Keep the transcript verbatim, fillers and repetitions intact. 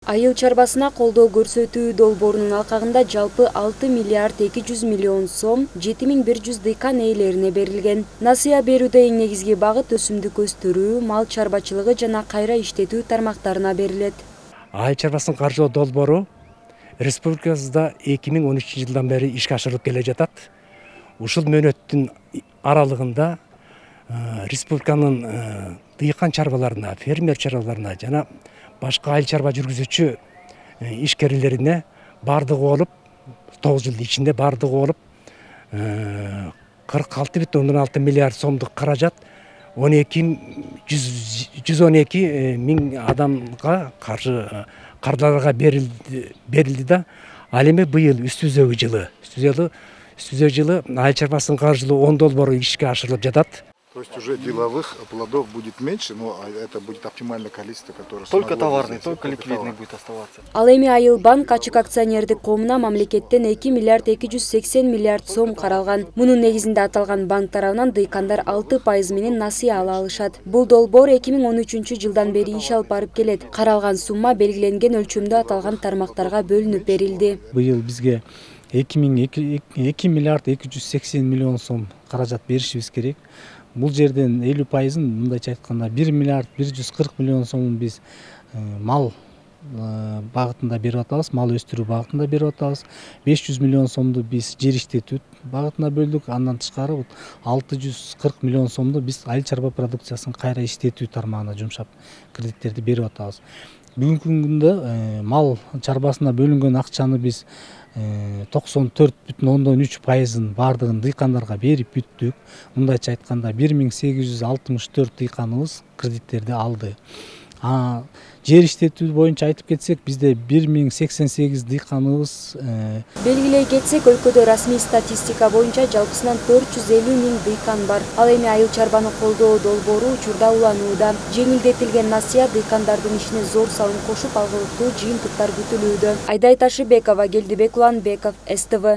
Айыл чарбасына колдоо көрсөтүү долбоорунун алкагында жалпы алты миллиард эки жүз миллион сом жети миң бир жүз дыйкан ээлерине берилген. Насыя берүүдө эң негизги багыт өсүмдүк өстүрүү, мал чарбачылыгы жана кайра иштетүү тармактарына берилет. Айыл чарбасын каржылоо долбоору республикабызда эки миң он үчүнчү жылдан бери ишке ашырылып келе жатат. Ушул мөөнөттүн аралыгында республиканын дыйкан чарбаларына, фермер чарбаларына жана башка айыл чарба жүргүзүүчү ишкерлерине бардыгы болуп тогуз жыл ичинде бардыгы болуп кырк алты бүтүн ондон алты миллиард сомдук каражат он эки жүз он эки миң адамга каршы кардарларга берилди берилди да ал эми быйыл үстүзөгү жылы үстүзөгү үстүзөө жылы айыл чарбасын каржылоо он долбоору ишке ашырылып жатат. То есть уже деловых плодов будет меньше, но это будет оптимальное количество, которое... Только товарный, только ликвидный будет оставаться. Ал эми Айыл банк ачык акционердик коомуна мамлекеттен эки миллиард эки жүз сексен миллиард сом каралган. Мунун негизинде аталган банк тарабынан дыйкандар алты пайыз менен насыя ала алышат. Бул долбоор эки миң он үчүнчү жылдан бери иш алып барып келет. Каралган сумма белгиленген өлчөмдө аталган тармактарга бөлүнүп берилди. Быйыл бизге эки миллиард эки жүз сексен миллион сом каражат беришибиз керек. Бул жерден элүү пайызын, мындайча айтканда бир миллиард бир жүз кырк миллион сомун биз мал багытында берип атабыз, мал өстүрүү багытында берип атабыз. беш жүз миллион сомду биз жер иштетүү багытына бөлдүк. Андан тышкары алты жүз кырк миллион сомду биз айыл чарба продукциясын кайра иштетүү тармагына жумшап кредиттерди берип атабыз. Бүгүнкү күндө мал чарбасына бөлүнгөн акчаны биз токсон төрт бүтүн ондон үч пайызын бардыгын дыйкандарга берип бүттүк. Мындайча айтканда бир миң сегиз жүз алтымыш төрт дыйканыбыз кредиттерди алды. А жер иштетүү боюнча айтып кетсек, бизде бир миң сексен сегиз дыйканыбыз. Белгилей кетсек, өлкөдө расмий статистика боюнча жалпысынан төрт жүз элүү миң дыйкан бар. Ал эми айыл чарбаны колдоо долбоору учурда уланууда. Жеңилдетилген насыя дыйкандардын ишине зор салым кошуп, алгылыктуу жыйынтыктар күтүлүүдө. Айдай Ташыбекова, Келдибек Уланбеков, эс тэ вэ.